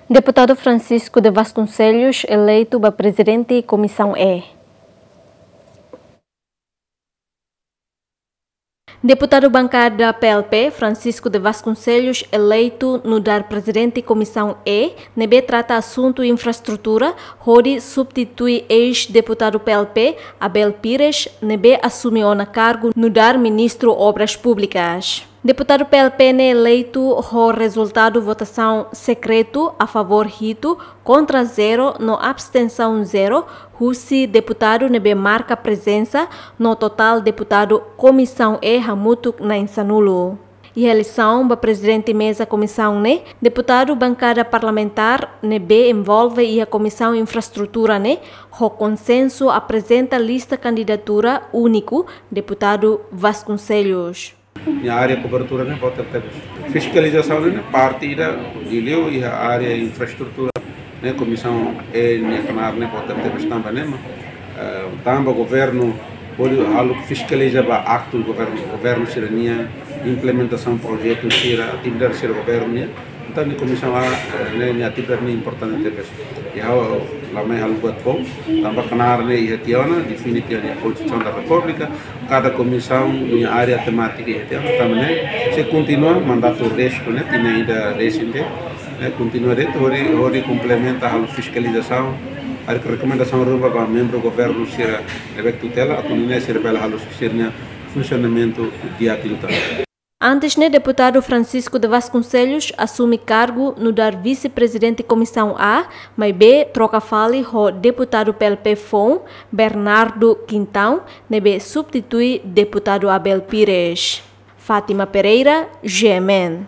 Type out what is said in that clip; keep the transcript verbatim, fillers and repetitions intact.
Deputadu Francisco de Vasconcelos eleitu ba Prezidente Komisaun E. Deputadu bankada P L P, Francisco de Vasconcelos, eleitu nu'udar Prezidente Komisaun E, ne'ebé trata asuntu infraestrutura, hodi substitui eis-deputadu P L P, Abel Pires, ne'ebé asume ona kargu nu'udar Ministru Obras Públikas. Deputadu P L P ne'e eleitu ho rezultadu votasaun sekretu, a favór hitu, kontra zero no abstensaun zero, husi deputadu ne'ebé marka prezensa, no totál deputadu Komisaun E hamutuk na'in sanulu. Iha eleisaun ba Prezidente Meza Komisaun ne'e, deputadu bankada parlamentár ne'ebé envolve iha Komisaun Infraestrutura ne'e, ho konsensu aprezenta lista kandidatura úniku, deputadu Vasconcelos. Nia área kobertura ne'e boot tebes. Fiskalizasaun ne'e parte ida liuliu iha área infraestrutura ne'e, Komisaun E nia knaar ne'e boot tebes tanba ne'e mak, eh, tanba governu hodi halo fiskaliza ba aktu governu, governu sira-nia implementasaun projetu sira, atividade sira governu nian. Entaun nia Komisaun A, eh, ne'e nia atividade ne'e importante tebes. I ha'u la mai halo buat foun, tanba knaar ne'e iha tiha ona, define tiha ona iha Konstituisaun da Repúblika, kada komisaun nia área temátika iha tiha ona, tanba ne'e sei kontinua mandatu restu ne'e, tinan ida resin ne'e, eh, kontinua de'it, hodi, hodi komplementa halo fiskalizasaun, halo rekomendasaun ruma ba membru governu sira ne'ebé tutela, atu nune'e sira bele halo sira-nia funsionamentu di'ak liután. Antes ne'e, deputadu Francisco de Vasconcelos asume kargu nu'udar Vise-Prezidente Komisaun A, maibé troka fali ho deputadu P L P foun, Bernardo Quintão, ne'ebé substitui deputadu Abel Pires. Fátima Pereira, G M N.